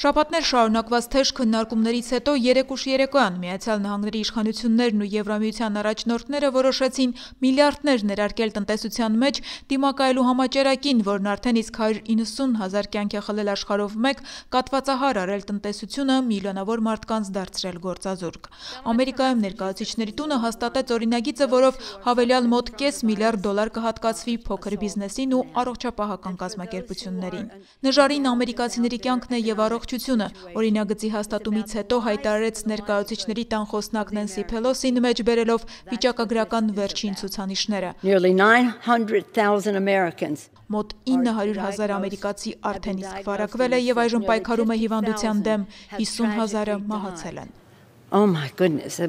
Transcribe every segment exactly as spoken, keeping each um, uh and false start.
Շաբաթներ շարունակված թեժ քննարկումներից հետո երեկ ուշ երեկոյան Միացյալ Նահանգների իշխանություններն ու Եվրամիության առաջնորդները որոշեցին միլիարդներ ներարկել տնտեսության մեջ դիմակայելու համաճարակին, որն արդեն իսկ հարյուր իննսուն հազար կյանք է խլել աշխարհով մեկ, կաթվածահար արել տնտեսությունը, միլիոնավոր մարդկանց դարձրել գործազուրկ։ Ամերիկայում ներկայացուցիչների տունը հաստատեց օրինագիծը, որով հավելյալ մոտ կես միլիարդ դոլար կհատկացվի փոքր բիզնեսին ու առողջապահական կազմակերպություններին։ Նժարին ամերիկացիների կյանքն է եւ առողջությունը, օրինագծի հաստատումից հետո հայտարարեց ներկայացուցիչների տան խոսնակ Նենսի Փելոսին մեջ բերելով վիճակագրական վերջին ցուցանիշները։ Մոտ ինը հարյուր հազար ամերիկացի արդեն իսկ վարակվել է եւ այժմ պայքարում է հիվանդության դեմ, հիսուն հազարը մահացել են։ Oh my goodness.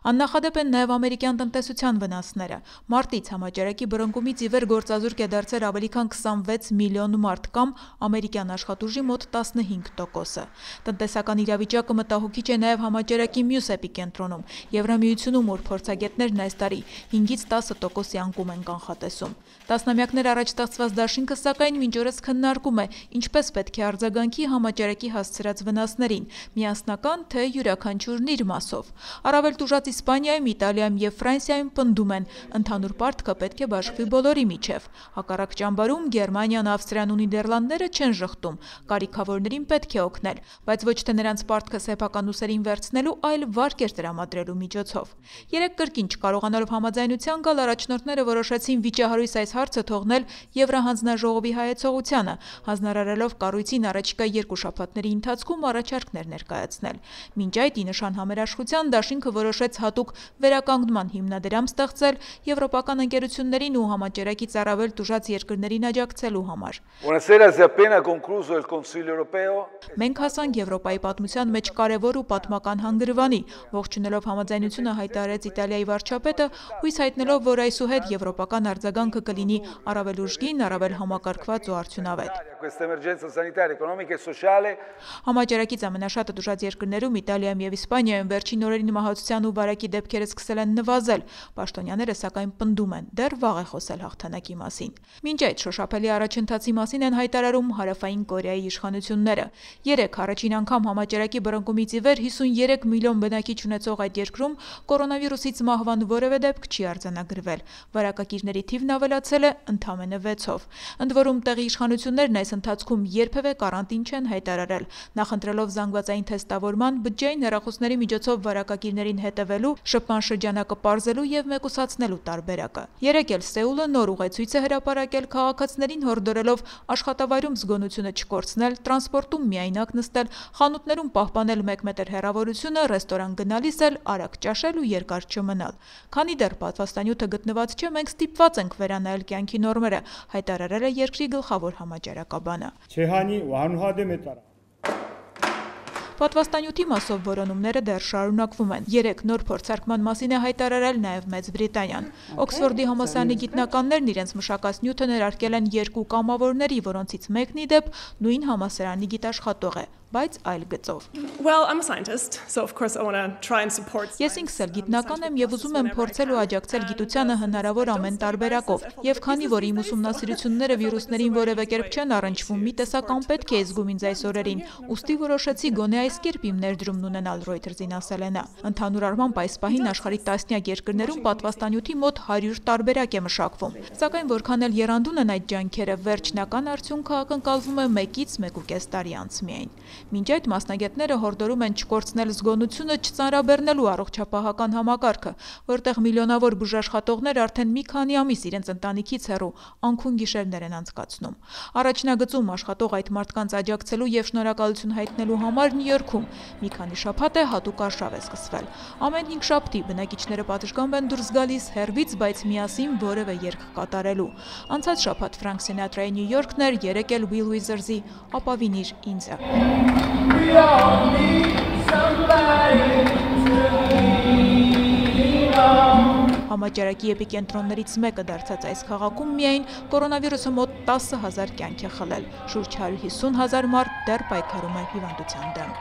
Աննախադեպ են նաև ամերիկյան տնտեսության վնասները։ Մարտից համաճարակի բռնկումից ի վեր գործազուրկ է դարձել ավելի քան քսանվեց միլիոն մարդ կամ ամերիկյան աշխատուժի մոտ տասնհինգ տոկոսը։ Տնտեսական իրավիճակը մտահոգիչ է նաև համաճարակի մյուս էպիկենտրոնում՝ Եվրամիությունում, ուր փորձագետներն այս տարի հինգից տասը տոկոսի անկում են կանխատեսում։ Տասնամյակներ առաջ ստեղծված դաշինքը սակայն մինչ օրս քննարկում է, ինչպես պետք է արձագանքի համաճարակի հասցրած վնասներին՝ միասնական թե յուրաքանչյուրն իր մասով։ Առավել տուժած Իսպանիայում, Իտալիայում եւ Ֆրանսիայում պնդում են, ընդհանուր պարտքը պետք է բաշխվի բոլորի միջև։ Հակառակ ճամբարում Գերմանիան, Ավստրիան ու Նիդերլանդները չեն ժխտում, կարիքավորներին պետք է օգնել, բայց ոչ թե նրանց պարտքը սեփական ուսերին վերցնելու, այլ վարկեր տրամադրելու միջոցով։ Երեք կրկին չկարողանալով համաձայնության գալ, առաջնորդները որոշեցին վիճահարույց այս հարցը թողնել Եվրահանձնաժողովի հայեցողությանը, հանձնարարելով կառույցին առաջիկա երկու շաբաթների ընթացքում առաջարկներ ներկայացնել։ Մինչ այդ, ի նշան համերաշխության, դաշինքը որոշեց հատուկ վերականգնման հիմնադրամ ստեղծել եվրոպական ընկերություններին ու համաճարակից առավել տուժած երկրներին աջակցելու համար։ Մենք հասանք Եվրոպայի պատմության մեջ կարևոր ու պատմական հանգրվանի, ողջունելով համաձայնությունը հայտարարեց Իտալիայի վարչապետը, հույս հայտնելով, որ այսուհետ եվրոպական արձագանքը կլինի առավել ուժգին, առավել համակարգված ու արդյունավետ։ Համաճարակից ամենաշատը տուժած երկրներում Իտալիայում եւ Իսպանիայում վերջին օրերին մահացության ու վարակի դեպքերը սկսել են նվազել, պաշտոնյաները սակայն պնդում են, դեռ վաղ է խոսել հաղթանակի մասին։ Մինչ այդ շոշափելի առաջընթացի մասին են հայտարարում Հարավային Կորեայի իշխանությունները։ Երեք առաջին անգամ համաճարակի բռնկումից ի վեր հիսունյերեք միլիոն բնակիչ ունեցող այդ երկրում կորոնավիրուսից մահվան որևէ դեպք չի արձանագրվել։ Վարակակիրների թիվն ավելացել է ընդամենը վեցով։ Ընդ որում տեղի իշխանություններն այս ընթացքում երբևէ կարանտին չեն հայտարարել, նախընտրելով զանգվածային թեստավորման, բջջային հեռախոսների միջոցով վարակակիրներին հետևելու, շփման շրջանակը պարզելու եւ մեկուսացնելու տարբերակը։ Երեկ էլ Սեուլը նոր ուղեցույց է հրապարակել քաղաքացիներին հորդորելով աշխատավայրում զգոնությունը չկորցնել, տրանսպորտում միայնակ նստել, խանութներում պահպանել մեկ մետր հեռավորությունը, ռեստորան գնալիս էլ արագ ճաշել ու երկար չմնալ։ Քանի դեռ պատվաստանյութը գտնված չէ, մենք ստիպված ենք վերանայել կյանքի նորմերը, հայտարարել է երկրի գլխավոր համաճարակաբանը։ Պատվաստանյութի մասով որոնումները դեռ շարունակվում են։ Երեք նոր փորձարկման մասին է հայտարարել նաև Մեծ Բրիտանիան։ Օքսֆորդի համալսարանի գիտնականներն իրենց մշակած նյութը ներարկել են երկու կամավորների, որոնցից մեկն ի դեպ նույն համալսարանի գիտաշխատող է, բայց այլ գծով։ Ես ինքս էլ գիտնական եմ եւ ուզում եմ փորձել ու աջակցել գիտությանը հնարավոր ամեն տարբերակով։ Եվ քանի որ իմ ուսումնասիրությունները վիրուսներին որևէ կերպ չեն առնչվում, մի տեսական պետք է զգում ինձ այս օրերին, ուստի որոշեցի գոնե այս կերպ իմ ներդրումն ունենալ, Reuters-ին ասել է նա։ Ընդհանուր առմամբ այս պահին աշխարհի տասնյակ երկրներում պատվաստանյութի մոտ հարյուր տարբերակ է մշակվում։ Սակայն որքան էլ եռանդուն են այդ ջանքերը, վերջնական արդյունքը ակնկալվում է մեկից մեկ ու կես տարի անց միայն։ Մինչ այդ մասնագետները հորդորում են չկորցնել զգոնությունը, չծանրաբեռնելու առողջապահական համակարգը, որտեղ միլիոնավոր բուժաշխատողներ արդեն մի քանի ամիս իրենց ընտանիքից հեռու անքուն գիշերներ են անցկացնում։ Առաջնագծում աշխատող այդ մարդկանց աջակցելու եւ շնորհակալություն հայտնելու համար Նյու Յորքում մի քանի շաբաթ է հատուկ արշավ է սկսվել։ Ամեն հինգշաբթի բնակիչները պատշգամբ են դուրս գալիս հեռվից, բայց միասին որևէ երգ կատարելու։ Անցած շաբաթ Ֆրանկ Սինատրայի Նյու Յորքն էր, երեկ էլ Will Withers-ի «Ապավինիր ինձը»։ Համաճարակի էպիկենտրոններից մեկը դարձած այս քաղաքում միայն կորոնավիրուսը մոտ տասը հազար կյանք է խլել, շուրջ հարյուր հիսուն հազար մարդ դեռ պայքարում է հիվանդության դեմ։